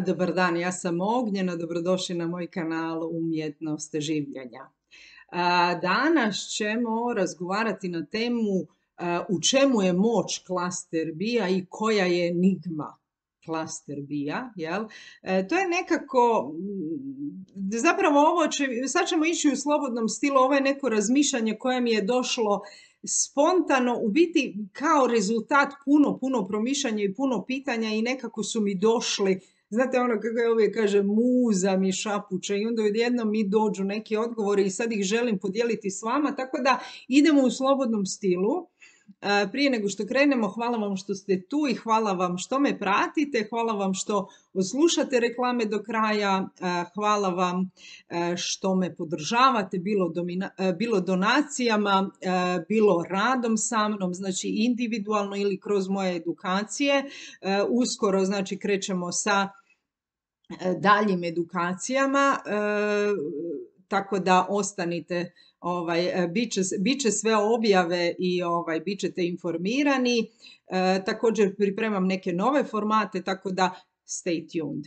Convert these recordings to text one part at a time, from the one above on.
Dobar dan, ja sam Ognjena, dobrodošli na moj kanal Umjetnost življenja. Danas ćemo razgovarati na temu u čemu je moć klaster B-a i koja je enigma klaster B-a. To je nekako, zapravo sad ćemo ići u slobodnom stilu, ovo je neko razmišljanje koje mi je došlo spontano, u biti kao rezultat puno promišljanja i puno pitanja i nekako su mi došli. Znate ono kako ja uvijek kažem, muza mi šapuće i onda odjednom mi dođu neki odgovori i sad ih želim podijeliti s vama, tako da idemo u slobodnom stilu. Prije nego što krenemo, hvala vam što ste tu i hvala vam što me pratite, hvala vam što odslušate reklame do kraja, hvala vam što me podržavate, bilo donacijama, bilo radom sa mnom, znači individualno ili kroz moje edukacije. Uskoro, znači, krećemo sa daljim edukacijama, tako da ostanite, bit će sve objave i bit ćete informirani. Također pripremam neke nove formate, tako da stay tuned.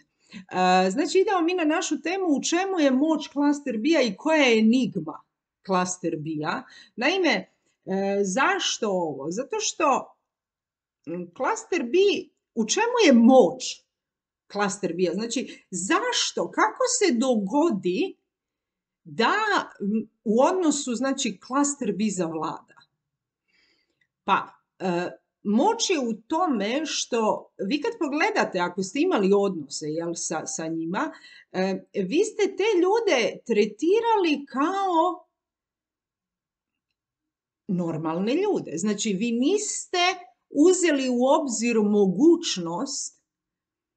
Znači idemo mi na našu temu u čemu je moć klaster B-a i koja je enigma klaster B-a. Naime, zašto ovo? Zato što klaster B, u čemu je moć klaster B-a? Znači, zašto? Kako se dogodi da u odnosu, znači, klaster B zavlada? Pa, moć je u tome što vi kad pogledate, ako ste imali odnose sa njima, vi ste te ljude tretirali kao normalne ljude. Znači, vi niste uzeli u obzir mogućnost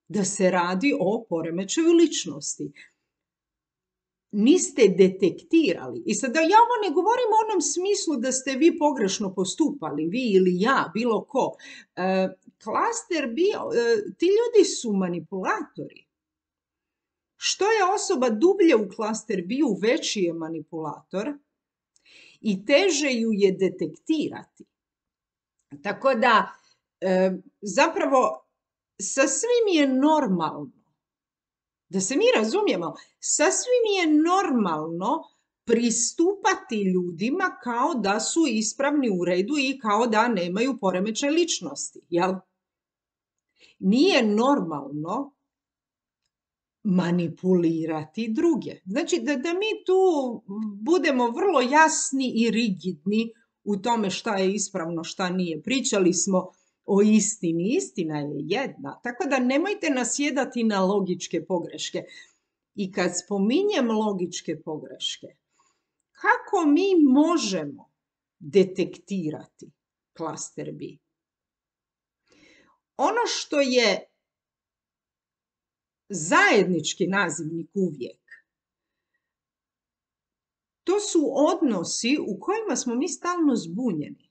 da se radi o poremećaju ličnosti. Niste detektirali. I sada ja ovo ne govorim u onom smislu da ste vi pogrešno postupali, vi ili ja, bilo ko. Klaster B, ti ljudi su manipulatori. Što je osoba dublje u klaster B-u, veći je manipulator i teže ju je detektirati. Tako da, zapravo, sasvim je normalno, da se mi razumijemo, sasvim je normalno pristupati ljudima kao da su ispravni, u redu i kao da nemaju poremećaj ličnosti, jel? Nije normalno manipulirati druge. Znači da mi tu budemo vrlo jasni i rigidni u tome šta je ispravno, šta nije. Pričali smo o istini. Istina je jedna. Tako da nemojte nasjedati na logičke pogreške. I kad spominjem logičke pogreške, kako mi možemo detektirati klaster B? Ono što je zajednički nazivnik uvijek, to su odnosi u kojima smo mi stalno zbunjeni.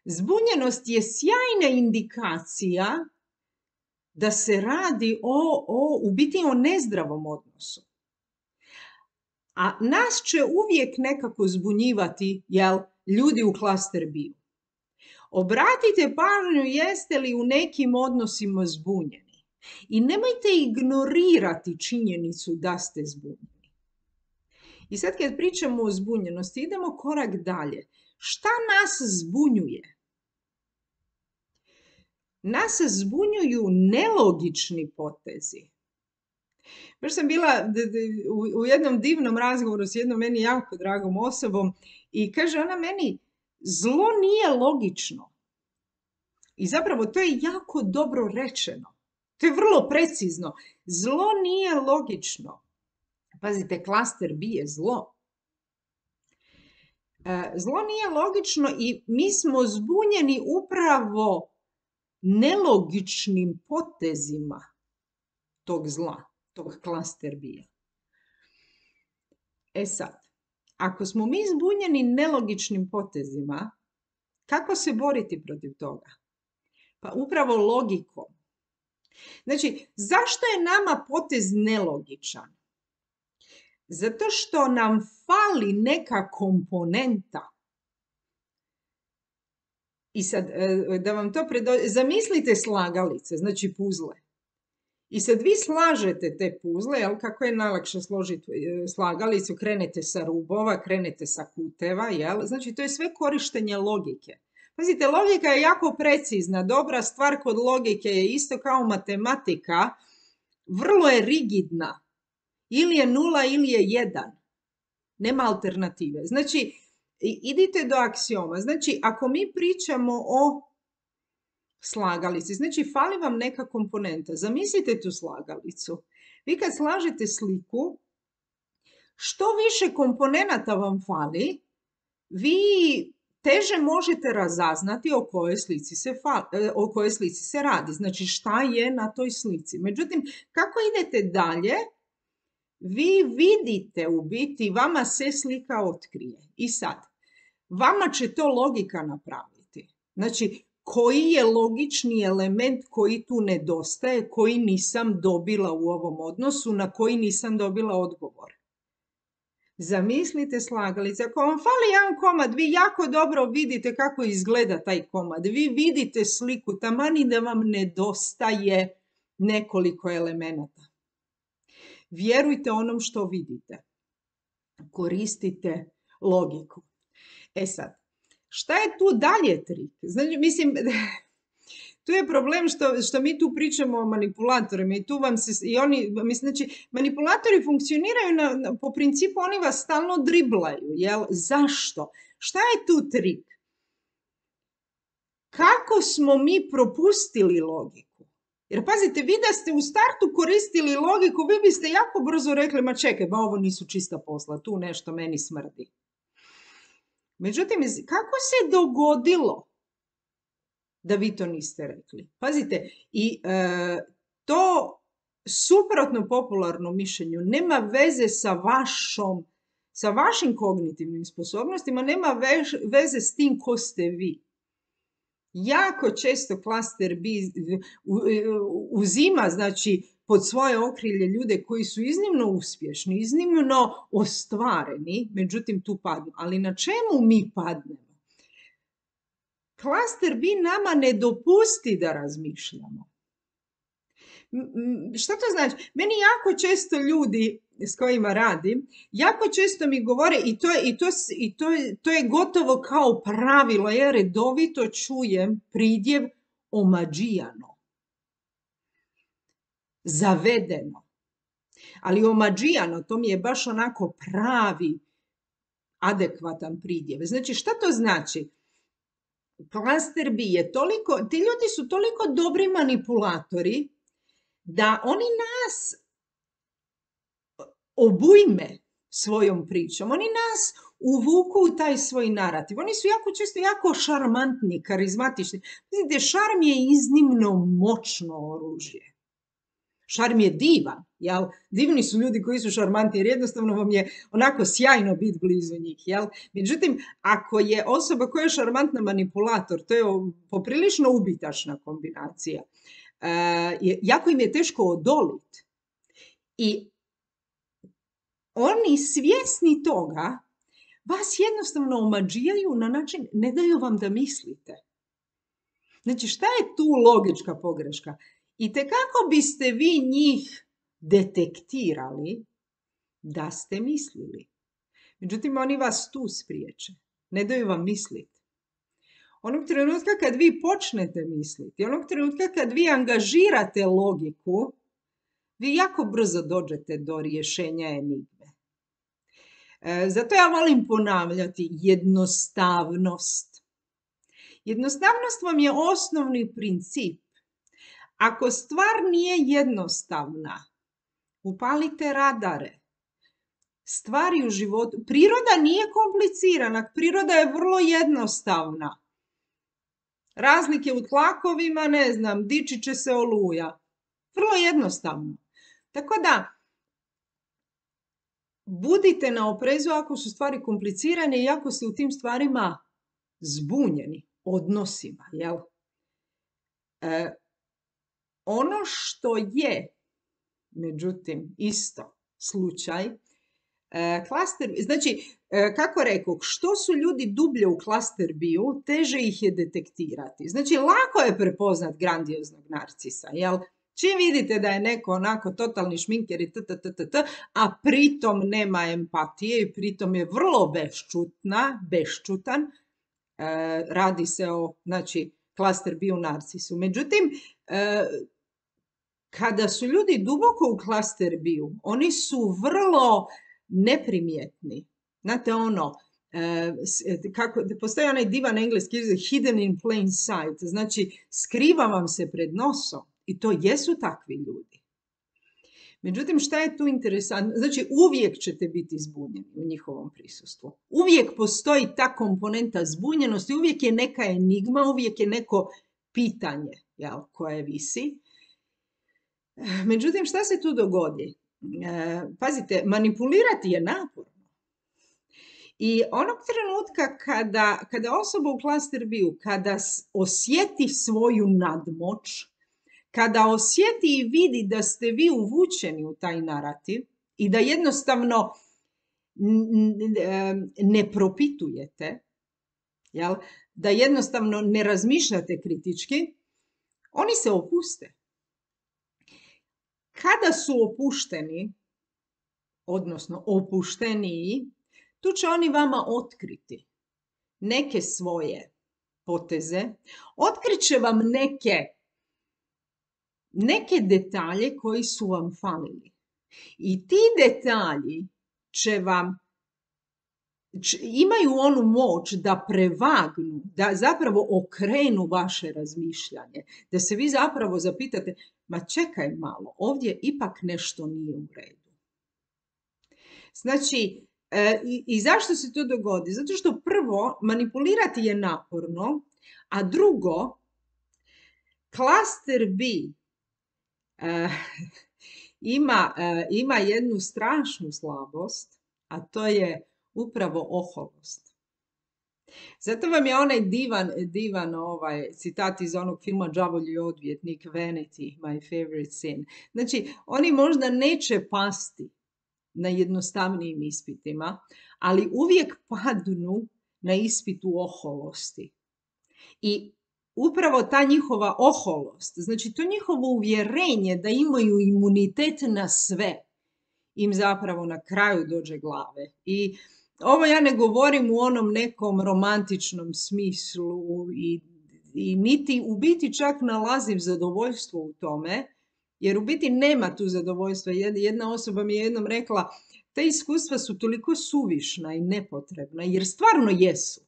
Zbunjenost je sjajna indikacija da se radi u biti o nezdravom odnosu. A nas će uvijek nekako zbunjivati, ljudi u klaster B-u. Obratite pažnju jeste li u nekim odnosima zbunjeni. I nemojte ignorirati činjenicu da ste zbunjeni. I sad kad pričamo o zbunjenosti, idemo korak dalje. Šta nas zbunjuje? Nas zbunjuju nelogični potezi. Baš sam bila u jednom divnom razgovoru s jednom meni jako dragom osobom i kaže ona meni, zlo nije logično. I zapravo to je jako dobro rečeno. To je vrlo precizno. Zlo nije logično. Pazite, klaster B je zlo. Zlo nije logično i mi smo zbunjeni upravo nelogičnim potezima tog zla, tog klaster B-a. E sad, ako smo mi zbunjeni nelogičnim potezima, kako se boriti protiv toga? Pa upravo logikom. Znači, zašto je nama potez nelogičan? Zato što nam fali neka komponenta. I sad, da vam to zamislite slagalice, znači puzle. I sad vi slažete te puzle, jel, kako je najlakše složiti slagalicu, krenete sa rubova, krenete sa kuteva, jel? Znači to je sve korištenje logike. Pazite, logika je jako precizna, dobra stvar kod logike je isto kao matematika, vrlo je rigidna. Ili je 0 ili je 1. Nema alternative. Znači, idite do aksioma. Znači, ako mi pričamo o slagalici, znači fali vam neka komponenta. Zamislite tu slagalicu. Vi kad slažete sliku, što više komponenata vam fali, vi teže možete razaznati o kojoj slici se radi. Znači šta je na toj slici. Međutim, kako idete dalje, vi vidite u biti, vama se slika otkrije. I sad, vama će to logika napraviti. Znači, koji je logični element koji tu nedostaje, koji nisam dobila u ovom odnosu, na koji nisam dobila odgovor. Zamislite slagalice, ako vam fali jedan komad, vi jako dobro vidite kako izgleda taj komad. Vi vidite sliku, tamani da vam nedostaje nekoliko elemenata. Vjerujte onom što vidite. Koristite logiku. E sad, šta je tu dalje trik? Znači, mislim, tu je problem što mi tu pričamo o manipulatorima i tu vam se, i oni, mislim, znači, manipulatori funkcioniraju po principu, oni vas stalno driblaju, jel? Zašto? Šta je tu trik? Kako smo mi propustili logiku? Jer pazite, vi da ste u startu koristili logiku, vi biste jako brzo rekli, ma čekaj, ba ovo nisu čista posla, tu nešto meni smrdi. Međutim, kako se dogodilo da vi to niste rekli? Pazite, i to suprotno popularnom mišljenju nema veze sa vašim kognitivnim sposobnostima, nema veze s tim ko ste vi. Jako često klaster B uzima, znači, pod svoje okrilje ljude koji su iznimno uspješni, iznimno ostvareni, međutim tu padnu. Ali na čemu mi padnemo? Klaster B nama ne dopusti da razmišljamo. Šta to znači? Meni jako često ljudi s kojima radim, jako često mi govore, to je gotovo kao pravilo, ja redovito čujem pridjev omađijano. Zavedeno. Ali omađijano, to mi je baš onako pravi, adekvatan pridjev. Znači, šta to znači? Klaster B je toliko, ti ljudi su toliko dobri manipulatori da oni nas obujme svojom pričom. Oni nas uvuku u taj svoj narativ. Oni su jako često jako šarmantni, karizmatični. Vidite, šarm je iznimno moćno oružje. Šarm je divan, jel? Divni su ljudi koji su šarmantni, jer jednostavno vam je onako sjajno biti blizu njih, jel? Međutim, ako je osoba koja je šarmantna manipulator, to je poprilično ubitačna kombinacija. Jako im je teško odoliti. I oni svjesni toga vas jednostavno omađijaju na način, ne daju vam da mislite. Znači, šta je tu logička pogreška? I kako biste vi njih detektirali da ste mislili? Međutim, oni vas tu spriječe. Ne daju vam misliti. Onog trenutka kad vi počnete misliti, onog trenutka kad vi angažirate logiku, vi jako brzo dođete do rješenja enigme. Zato ja volim ponavljati jednostavnost. Jednostavnost vam je osnovni princip. Ako stvar nije jednostavna, upalite radare. Stvari u životu, priroda nije komplicirana, priroda je vrlo jednostavna. Razlike u tlakovima, ne znam, dići će se oluja. Vrlo jednostavno. Tako da, budite na oprezu ako su stvari komplicirane i ako ste u tim stvarima zbunjeni odnosima, jel? Ono što je, međutim, isto slučaj, znači, kako rekao, što su ljudi dublje u klaster B-u, teže ih je detektirati. Znači, lako je prepoznat grandioznog narcisa, jel? Čim vidite da je neko onako totalni šminker i a pritom nema empatije i pritom je vrlo beščutan, radi se o, znači, klaster B u narcisu. Međutim, kada su ljudi duboko u klaster B-u, oni su vrlo neprimjetni. Znate ono, postoji onaj divan engleski izraz hidden in plain sight, znači skriva vam se pred nosom i to jesu takvi ljudi. Međutim, šta je tu interesantno? Znači, uvijek ćete biti zbunjeni u njihovom prisustvu. Uvijek postoji ta komponenta zbunjenosti, uvijek je neka enigma, uvijek je neko pitanje, jel, koje visi. Međutim, šta se tu dogodi? Pazite, manipulirati je naporno. I onog trenutka kada osoba u klaster B-u, kada osjeti svoju nadmoć, kada osjeti i vidi da ste vi uvučeni u taj narativ i da jednostavno ne propitujete, jel? Da jednostavno ne razmišljate kritički, oni se opuste. Kada su opušteni, odnosno opušteniji, tu će oni vama otkriti neke svoje poteze, otkriće vam neke detalje koji su vam falili. I ti detalji imaju onu moć da prevagnu, da zapravo okrenu vaše razmišljanje, da se vi zapravo zapitate, ma čekaj malo, ovdje ipak nešto nije u redu. Znači, i zašto se to dogodi? Zato što prvo, manipulirati je naporno, a drugo, klaster B ima jednu strašnu slabost, a to je upravo oholost. Zato vam je onaj divan citat iz onog filma Đavolji odvjetnik, Vanity, my favorite sin. Znači, oni možda neće pasti na jednostavnijim ispitima, ali uvijek padnu na ispitu oholosti. I upravo ta njihova oholost, znači to njihovo uvjerenje da imaju imunitet na sve, im zapravo na kraju dođe glave. I ovo ja ne govorim u onom nekom romantičnom smislu i niti u biti čak nalazim zadovoljstvo u tome, jer u biti nema tu zadovoljstva. Jedna osoba mi je jednom rekla, ta iskustva su toliko suvišna i nepotrebna, jer stvarno jesu.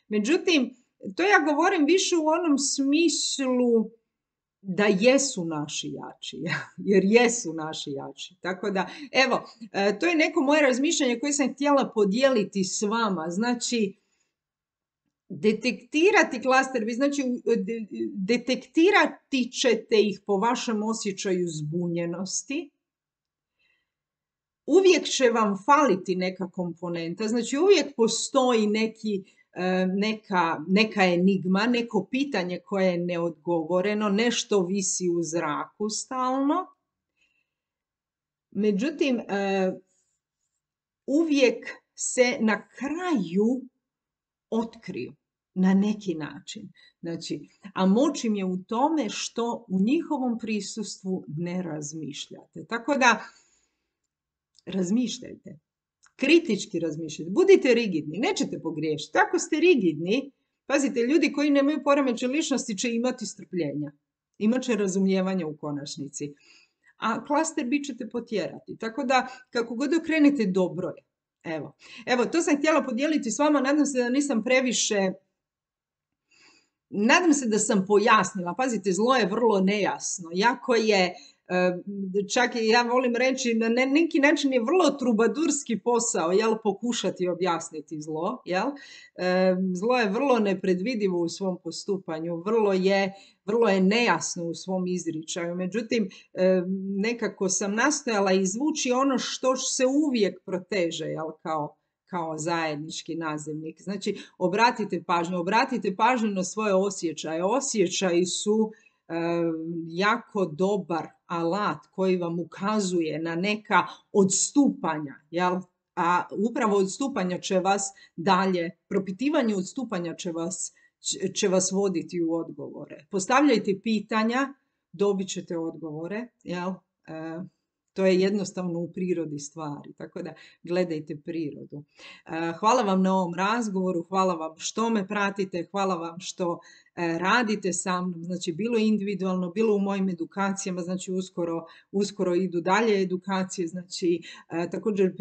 Međutim, to ja govorim više u onom smislu da jesu naši jači, jer jesu naši jači. Tako da, evo, to je neko moje razmišljanje koje sam htjela podijeliti s vama. Znači, detektirati klaster, znači detektirati ćete ih po vašem osjećaju zbunjenosti. Uvijek će vam faliti neka komponenta, znači uvijek postoji neka enigma, neko pitanje koje je neodgovoreno, nešto visi u zraku stalno. Međutim, uvijek se na kraju otkriju na neki način. Znači, a moć im je u tome što u njihovom prisustvu ne razmišljate. Tako da, razmišljajte. Kritički razmišljajte. Budite rigidni. Nećete pogriješiti. Ako ste rigidni, pazite, ljudi koji nemaju poremećaj ličnosti će imati strpljenja. Imaće razumijevanja u konačnici. A klaster B ćete potjerati. Tako da, kako god okrenete, dobro je. Evo, to sam htjela podijeliti s vama. Nadam se da nisam previše... Nadam se da sam pojasnila. Pazite, zlo je vrlo nejasno. Jako je... Čak i ja volim reći na neki način je vrlo trubadurski posao, jel, pokušati objasniti zlo, jel? Zlo je vrlo nepredvidivo u svom postupanju, vrlo je nejasno u svom izričaju. Međutim, nekako sam nastojala izvući ono što se uvijek proteže, jel, kao zajednički nazivnik. Znači, obratite pažnju na svoje osjećaje. Osjećaji su jako dobar alat koji vam ukazuje na neka odstupanja, jel? A upravo odstupanja će vas dalje, propitivanje odstupanja će vas voditi u odgovore. Postavljajte pitanja, dobit ćete odgovore, jel? E, To je jednostavno u prirodi stvari, tako da gledajte prirodu. Hvala vam na ovom razgovoru, hvala vam što me pratite, hvala vam što radite sa mnom, znači bilo individualno, bilo u mojim edukacijama, znači uskoro idu dalje edukacije, znači također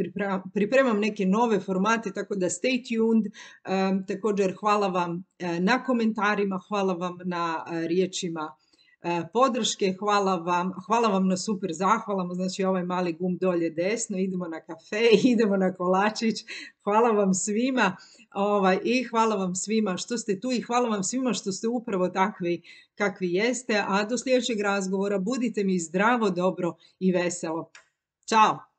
pripremam neke nove formate, tako da stay tuned. Također hvala vam na komentarima, hvala vam na riječima podrške, hvala vam na super zahvalama, znači ovaj mali gumb dolje desno, idemo na kafe, idemo na kolačić, hvala vam svima i hvala vam svima što ste tu i hvala vam svima što ste upravo takvi kakvi jeste, a do sljedećeg razgovora budite mi zdravo, dobro i veselo. Ćao!